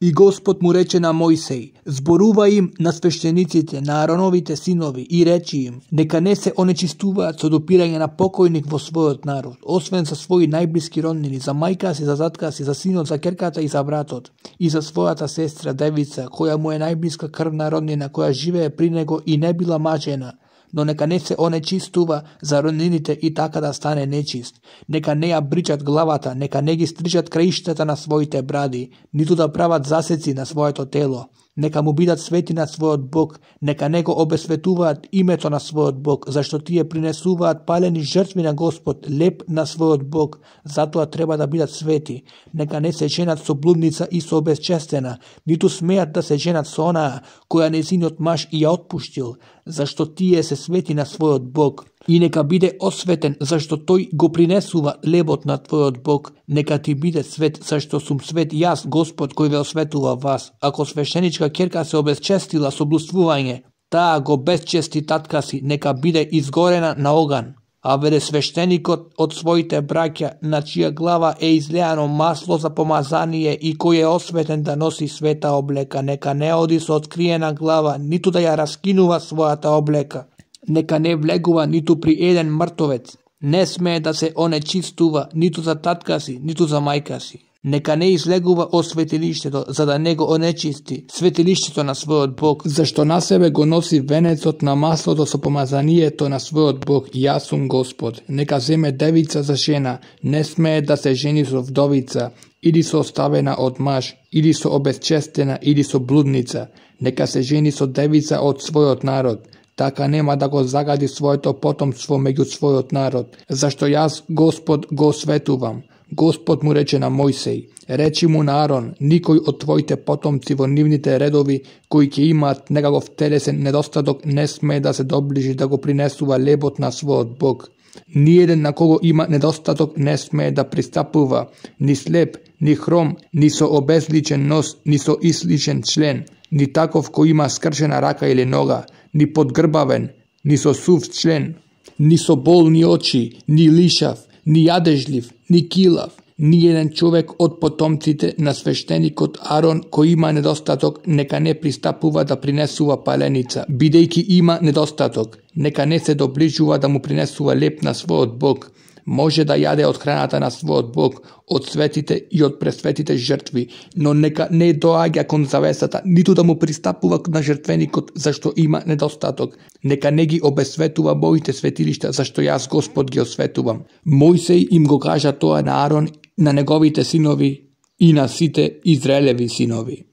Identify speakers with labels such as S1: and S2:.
S1: И Господ му рече на Мојсей: зборува им на свештениците, на Ароновите синови и речи им: нека не се онечистуваат со допирање на покојник во својот народ, освен за своји најблиски роднини, за мајка си, за татка си, за синот, за керката и за братот, и за својата сестра девица, која му е најблиска крвна роднина, која живее при него и не била мажена. Но нека не се онечистува за роднините и така да стане нечист. Нека не ја бричат главата, нека не ги стрижат краиштата на своите бради, ниту да прават засеци на своето тело. Нека му бидат свети на својот Бог, нека не го обесветуваат името на својот Бог, зашто тие принесуваат палени жртви на Господ, леп на својот Бог, затоа треба да бидат свети. Нека не се женат со блудница и со обезчестена, ниту смеат да се женат со онаа, која незиниот маж и ја отпуштил, зашто тие се свети на својот Бог. И нека биде осветен, зашто тој го принесува лебот на твојот Бог. Нека ти биде свет, зашто сум свет јас, Господ, кој ве осветува вас. Ако свештеничка ќерка се обезчестила со блудствување, таа го безчести татка си, нека биде изгорена на оган. А веде свештеникот од своите браќа, на чија глава е излеано масло за помазание и кој е осветен да носи света облека, нека не оди со откриена глава, ниту да ја раскинува својата облека. Нека не влегува ниту при еден мртовец, не смее да се онечистува ниту за татка си, ниту за мајка си. Нека не излегува од светилиштето, за да не го онечисти светилиштето на својот Бог, зашто на себе го носи венецот на маслото со помазанието на својот Бог. Јас сум Господ. Нека земе девица за жена, не смее да се жени со вдовица, или со оставена од маж, или со обезчестена, или со блудница. Нека се жени со девица од својот народ. Така нема да го загади своето потомство меѓу својот народ, зашто јас, Господ, го осветувам. Господ му рече на Мојсей: речи му на Арон: никој од твоите потомци во нивните редови, кои ќе имаат некаков телесен недостаток, не смее да се доближи да го принесува лебот на својот Бог. Ниеден на кого има недостаток не смее да пристапува, ни слеп, ни хром, ни со обезличен нос, ни со исличен член, ни таков кој има скршена рака или нога, ни подгрбавен, ни со сув член, ни со болни очи, ни лишав, ни јадежлив, ни килав, ни еден човек од потомците на свештеникот Арон кој има недостаток, нека не пристапува да принесува паленица, бидејќи има недостаток, нека не се доближува да му принесува леп на својот Бог. Може да јаде од храната на својот Бог, од светите и од пресветите жртви, но нека не доаѓа кон завесата, ниту да му пристапува на жртвеникот, зашто има недостаток. Нека не ги обесветува моите светилишта, зашто јас Господ ги осветувам. Мојсей им го кажа тоа на Арон, на неговите синови и на сите Израелеви синови.